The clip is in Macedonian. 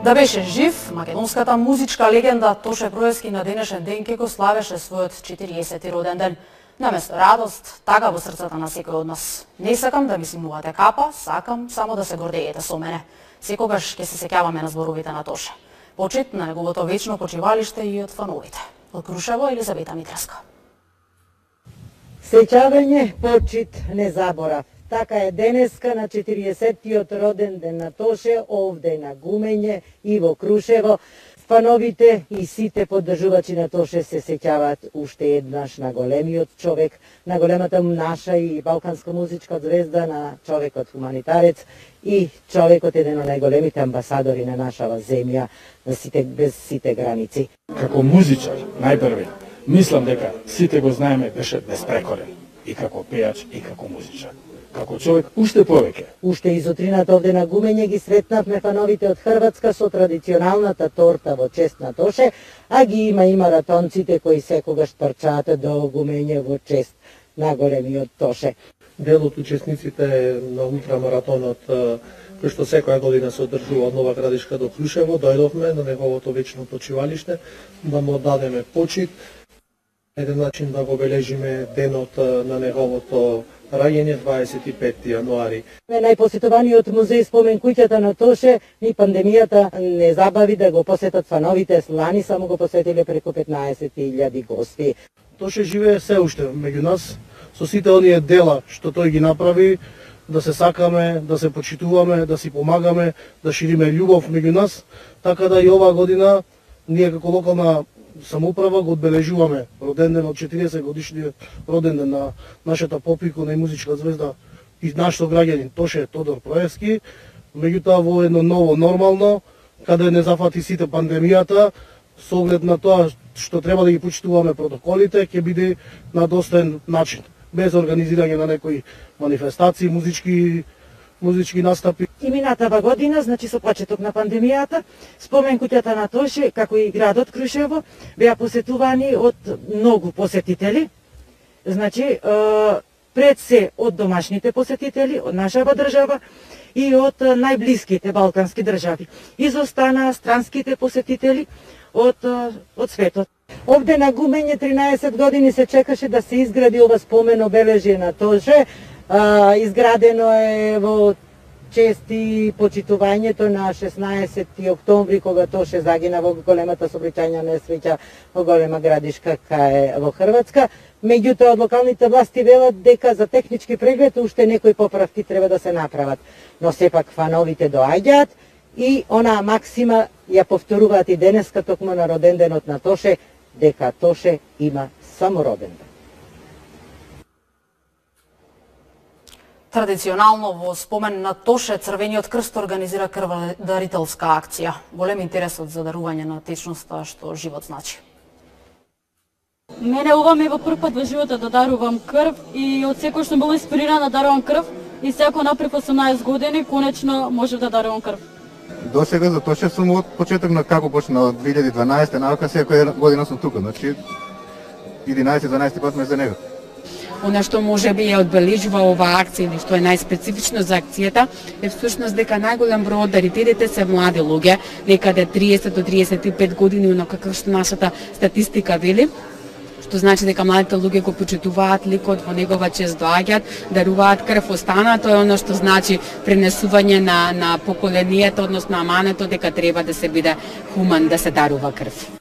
Да беше жив, македонската музичка легенда Тоше Проески на денешен ден ќе го славеше својот 40-ти роден ден. Наместо радост, тага во срцата на секој од нас. Не сакам да ми симнувате капа, сакам само да се гордеете со мене. Секогаш ќе се сеќаваме на зборовите на Тоше. Почит на неговото вечно почивалиште и од фановите. Од Крушево, Елизавета Митреска. Сеќавање, почит, не заборав. Така е денеска на 40-тиот роден ден на Тоше, овде на Гумење и во Крушево. Фановите и сите поддржувачи на Тоше се сеќаваат уште еднаш на големиот човек, на големата наша и балканска музичка звезда, на човекот хуманитарец и човекот еден од најголемите амбасадори на нашава земја, без сите граници. Како музичар, најпрви, мислам дека сите го знаеме, беше безпрекорен. И како пејач, и како музичар. Како човек, уште повеќе. Уште изутрината овде на Гумење ги сретнавме фановите од Хрватска со традиционалната торта во чест на Тоше, а ги има и маратонците кои секогаш трчаат до Гумење во чест на големиот Тоше. Дел од учесниците на ултрамаратонот, кој што секоја година се одржува од Нова Градишка до Крушево, дојдовме на неговото вечно почивалиште да му дадеме почит, еден начин да го бележиме денот на неговото раѓање 25 јануари. Најпосетуваниот музеј спомен куќата на Тоше и пандемијата не забави да го посетат фановите. Лани само го посетиле преку 15.000 гости. Тоше живее се уште меѓу нас, со сите оние дела што тој ги направи, да се сакаме, да се почитуваме, да си помагаме, да шириме љубов меѓу нас, така да и оваа година ние како локална самоуправа го одбележуваме роден ден од 40 годишниот роден ден на нашата попикона и музичка звезда и наш сограѓанин Тоше Тодор Проески, меѓутоа во едно ново нормално, каде не зафати сите пандемијата, со оглед на тоа што треба да ги почитуваме протоколите, ќе биде на достоен начин, без организирање на некои манифестации, музички настапи. И минатава година, значи со почеток на пандемијата, спомен куќата на Тоше, како и градот Крушево, беа посетувани од многу посетители. Значи, пред се од домашните посетители, од нашава држава и од најблиските балкански држави. Изостанаа странските посетители од светот. Овде на Гумење 13 години се чекаше да се изгради ова спомен обележје на Тоше. Изградено е во чест и почитувањето на 16 октомври, кога Тоше загина во големата сообраќајна несреќа во Голема Градишка во Хрватска. Меѓутоа, од локалните власти велат дека за технички преглед уште некои поправки треба да се направат. Но сепак фановите доаѓаат и онаа максима ја повторуваат и денеска токму на роден денот на Тоше, дека Тоше има само роден ден. Традиционално во спомен на Тоше Црвениот крст организира крводарителска акција. Голем интерес од задарување на течноста што живот значи. Мене ова ме во прв пат во животот да дарувам крв и од секој што била инспирирана да дарувам крв и секој напред 18 години конечно можев да дарувам крв. До сега за Тоше сум од почеток на како почна од 2012 навака секоја година сум тука, значи 11-12 пат ме за него. Она што може би ја одбележува оваа акција или што е најспецифично за акцијата е всушност дека најголем број од дарителите се млади луѓе, некаде 30 до 35 години, онака како што нашата статистика вели, што значи дека младите луѓе го почитуваат ликот, во негова чест доаѓаат, даруваат крв. Останато е оно што значи пренесување на поколенијата, односно амането дека треба да се биде хуман, да се дарува крв.